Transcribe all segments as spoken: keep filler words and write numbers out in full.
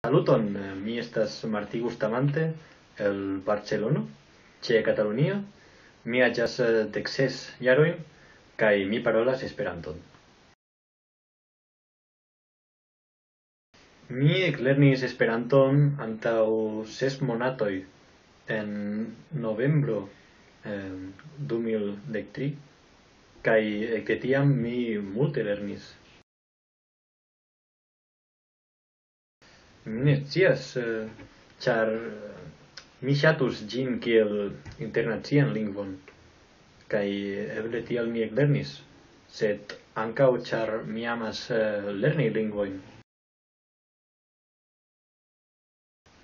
Saluton, eh, mi estas Martí Bustamante el Barcelono, ĉe Katalunio. Mi aĝas, eh, dek ses jarojn, kaj mi parolas Esperanton. Mi eklernis Esperanton antaŭ ses monatoj, en novembro, em, du mil dek tri, kaj ekde tiam mi multe lernis. Mi ne scias, eh, ĉar, eh, mi ŝatus ĝin kiel internacian lingvon, kaj eble tial mi eklernis, sed ankaŭ ĉar mi amas, eh, lerni lingvojn.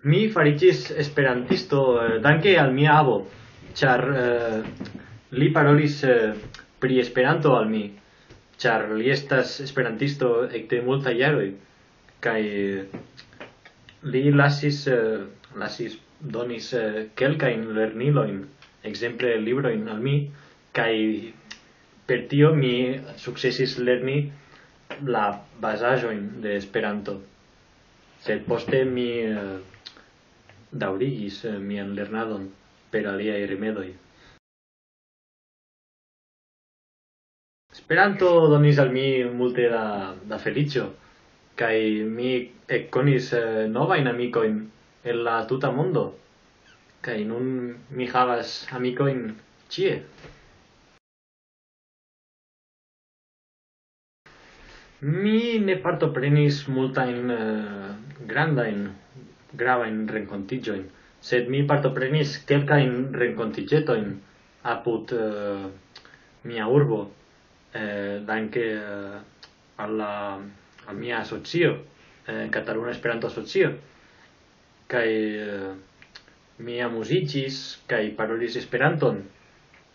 Mi fariĝis esperantisto, eh, danke al mia avo, ĉar, eh, li parolis, eh, pri Esperanto al mi, ĉar li estas esperantisto ekde multaj jaroj, kaj, eh, li lasis, eh, lasis, donis, eh, kelkajn lernilojn, ekzemple librojn al mi, kaj per tio mi sukcesis lerni la bazaĵojn de Esperanto. Sed poste mi, eh, daŭrigis, eh, mian lernadon per aliaj rimedoj. Esperanto donis al mi multe da, da feliĉo, kaj mi ekkonis, eh, novajn amikojn el la tuta mondo, kaj nun mi havas amikojn ĉie. Mi ne partoprenis multajn, eh, grandajn, gravajn renkontiĝojn, sed mi partoprenis kelkajn renkontiĝetojn apud, eh, mia urbo, eh, danke, eh, al la, al mia asocio, eh, Kataluna Esperanto Asocio, kaj, eh, mi amuziĝis kaj parolis Esperanton,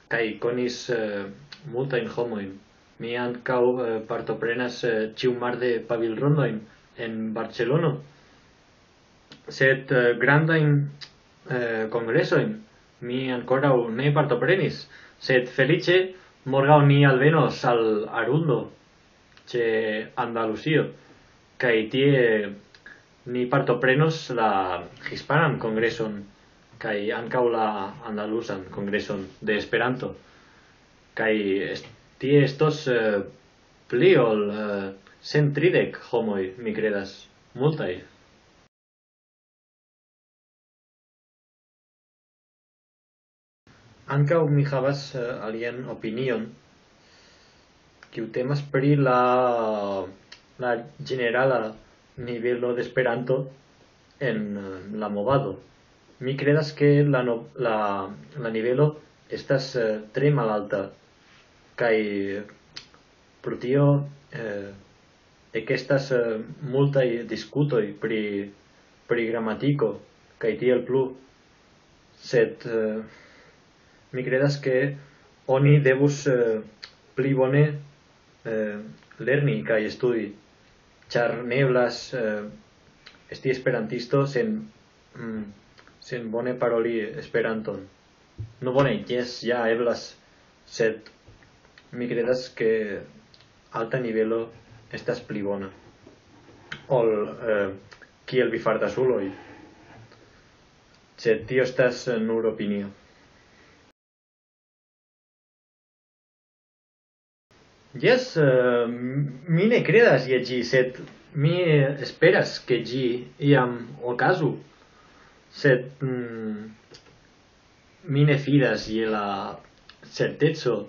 kaj konis, eh, multajn homojn. Mi ankaŭ, eh, partoprenas, eh, ĉiumarde pavilrondojn en Barcelono, sed, eh, grandajn, eh, kongresojn mi ankoraŭ ne partoprenis, sed feliĉe morgaŭ ni alvenos al Arundo, ĉe Andalusio, kaj tie ni partoprenos la hispanan kongreson, kaj ankaŭ la andaluzan kongreson de Esperanto, kaj est-, tie estos, eh, pli ol, eh, cent tridek homoj, mi kredas, multaj. Ankaŭ mi havas, eh, alian opinion, kiu temas pri la, la ĝenerala nivelo de Esperanto en, eh, la movado. Mi kredas, ke la no-, la, la nivelo estas, eh, tre malalta, kaj pro tio, eh, ekestas, eh, multaj diskutoj pri, pri gramatiko kaj tiel plu. Sed, eh, mi kredas, ke oni devus, eh, pli bone, eh, lerni kaj studi, ĉar ne eblas, eh, esti esperantisto sen, mm, sen bone paroli Esperanton. No, bone, jes, ja eblas, sed mi kredas, ke alta nivelo estas pli bona ol, eh, kiel vi fartas uloj. Sed tio estas, eh, nur opinio. Jes, eh, mi ne kredas je ĝi, sed mi esperas, ke ĝi iam okazu. Sed, mm, mi ne fidas je la certeco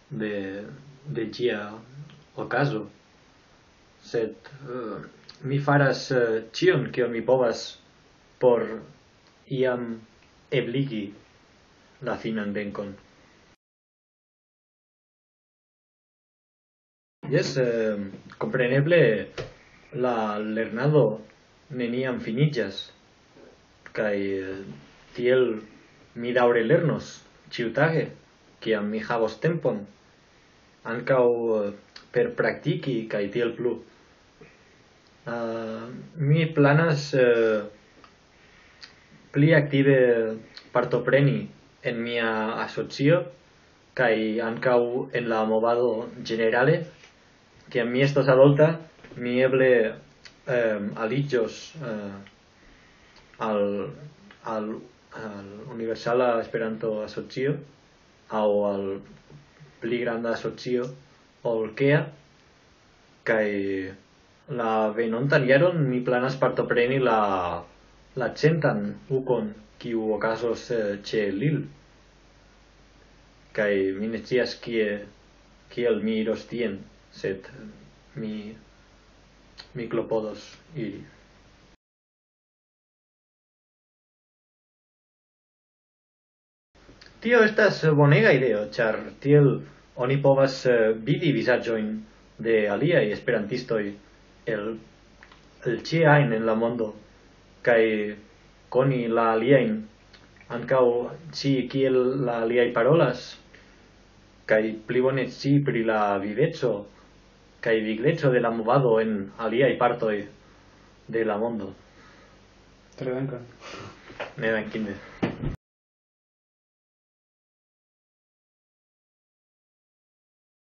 de, de ĝia okazo. Sed, eh, mi faras, eh, ĉion, kion mi povas, por iam ebligi la finan venkon. Jes, eh, kompreneble la lernado neniam finiĝas, kaj, eh, tiel mi daŭre lernos ĉiutage, kiam mi havos tempon, ankaŭ, eh, per praktiki kaj tiel plu. Ah, mi planas, eh, pli aktive partopreni en mia asocio kaj ankaŭ en la movado ĝenerale. Kiam mi estos adulta, mi eble Em, aliĝos eh, al, al, al Universala Esperanto Asocio aŭ al pli granda asocio ol kea, kaj la venontan jaron mi planas partopreni la la centan ukon, kiu okazos eh, ĉe Lil, kaj mi ne scias kie kiel mi iros tien, sed mi mi klopodos iri. Tio estas bonega ideo, ĉar tiel oni povas eh, vidi vizaĝojn de aliaj esperantistoj el el ĉie ajn en la mondo, kaj koni la aliajn, ankaŭ scii kiel la aliaj parolas, kaj pli bone scii pri la viveco kaj vigleco de la movado en aliaj partoj de la mondo. Tre dankon. Ne dankinde.